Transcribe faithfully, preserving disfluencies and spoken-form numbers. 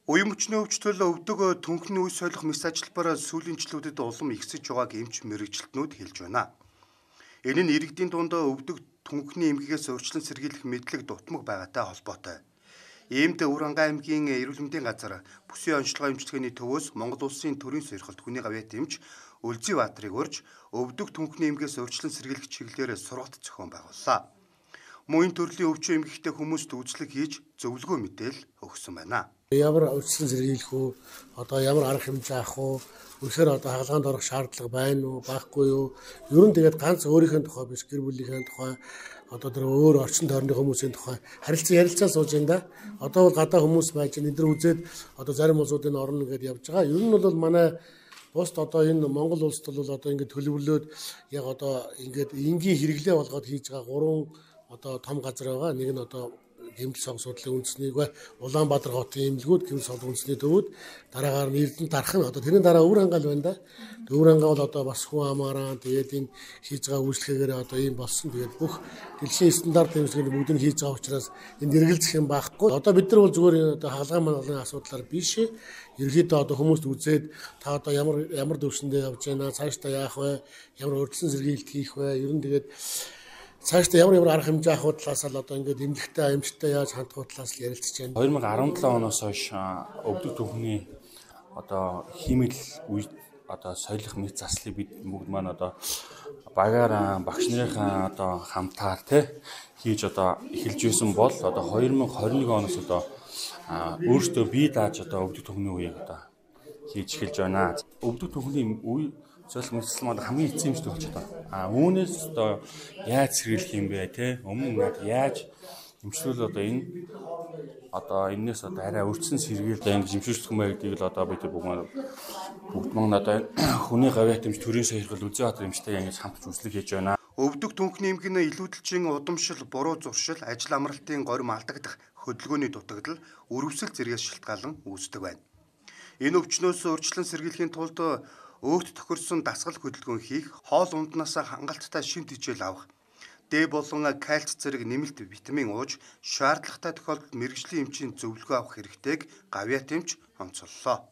Уян мөчний өвчтөл өвдөг түнхний үе солих мэс ажилбараа сүүлийн жилүүдэд улам ихсэж байгааг эмч мэрэгчлэтнүүд хэлж байна. Энэ нь иргэдийн дунд өвдөг түнхний эмгэгээс урьдчилан сэргийлэх мэдлэг дутмаг байгаатай холбоотой. Иймд Өвөрангай аймгийн эрүүл мэндийн газар бүсийн онцлогоо эмчилгээний төвөөс Монгол Улсын төрийн сойрхолт хүний гавьяат эмч Үлзий Баатрыг урьж өвдөг түнхний эмгэгээс урьдчилан сэргийлэх чиглэлээр сургалт зохион байгууллаа. Мөн төрлийн өвчин эмгэгтэй хүмүүст үйлчлэг хийж зөвлөгөө мэдээл өгсөн байна. Ямар урьдчилан сэргийлэх үү, одоо ямар арга хэмжээ авах уу, үнэхээр одоо хаалгаанд орох шаардлага байна уу, байхгүй юу? Ер нь тэгээд ганц өөрийнхөө тухай биш, гэр бүлийнхээ тухай, одоо тэр өөр орчин тойрны хүмүүсийн тухай харилцан ярилцаа сууж байна да. Одоо бол гадаа хүмүүс байж энэ дэр үзээд одоо зарим улсуудын орно гэдээ явж байгаа. Ер нь бол манай бусд одоо энэ Монгол улсд бол одоо ингээд төлөвлөлөөд яг одоо ингээд энгийн хэрэглээ болгоод хийж байгаа гурван одоо том газар байгаа. Нэг нь одоо гэмтэл сонг судлалын үндэснийг бай Улаанбаатар хотын эмнэлгүүд гэмтэл сонг үндэсний төвүүд дараагаар нь Эрдэнэ дарах нь одоо тэрний дараа Өвөрангай байна да. Өвөрангай бол одоо бас хүн амаараа тэгээд энэ хийж байгаа үйлчлэгээр одоо ийм болсон. Тэгээд бүх дэлхийн стандарт хэмжээний бүгд нь хийж байгаа учраас энд эргэлзэх юм байхгүй. Одоо бид нар бол зүгээр одоо хаалган мангалын асуудлаар биш. Ерөнхийдөө одоо хүмүүст үзээд та одоо ямар ямар төвшөндөө явж байна, цаашдаа яах вэ, ямар урьдчилан сэргийлэлт хийх вэ, ер нь тэгээд цаашдаа ямар ямар арга хэмжээ авах талаас л одоо ингээд эмнэлэгтэй аимшигтай яаж хандах талаас л ярилцж байна. две тысячи десятый оноос хойш өвдөг түнхний одоо хиймэл үе одоо соёлох мэд заслыг бид бүгд маань одоо багаар багш нарын одоо хамтаар тий хийж одоо эхэлж байсан бол одоо две тысячи двадцать один оноос одоо өөртөө бие дааж одоо өвдөг түнхний үеийг одоо хийж эхэлж байна. Өвдөг түнхний үе соёлох мэдлэл маань хамгийн эцсийн юмшд болж байна. А үүнээс одоо яаж сэргийлэх юм бэ те? Өмнө нь яаж эмчлүүл одоо энэ одоо энэс одоо арай өрчсөн сэргийлэл ингэж эмчилүүлэх юм бэ гэдгийг л одоо бид бүгд бүгд маань одоо хүний гавьяат эмч төрийн сойрхол Үлзий Баатрын эмчтэй ингэж хамтж үзлэг хийж байна. Өвдөг түнхний эмгэнэ илүүдэлжин удамшил, буруу зуршил, ажил амралтын горим алдагдах хөдөлгөөний дутагдал, өрөвсөл зэрэгс шалтгаалan үүсдэг байна. Энэ өвчнөөс урьдчилан сэргийлэхийн тулд өөрт тохирсон дасгал хөдөлгөөн хийх, хоол унднаас хангалттай шинэ хичээл авах, Д болон кальц зэрэг нэмэлт витамин ууж, шаардлагатай тохиолдолд мэргэжлийн эмчийн зөвлөгөө авах хэрэгтэйг гавьяат эмч онцоллоо.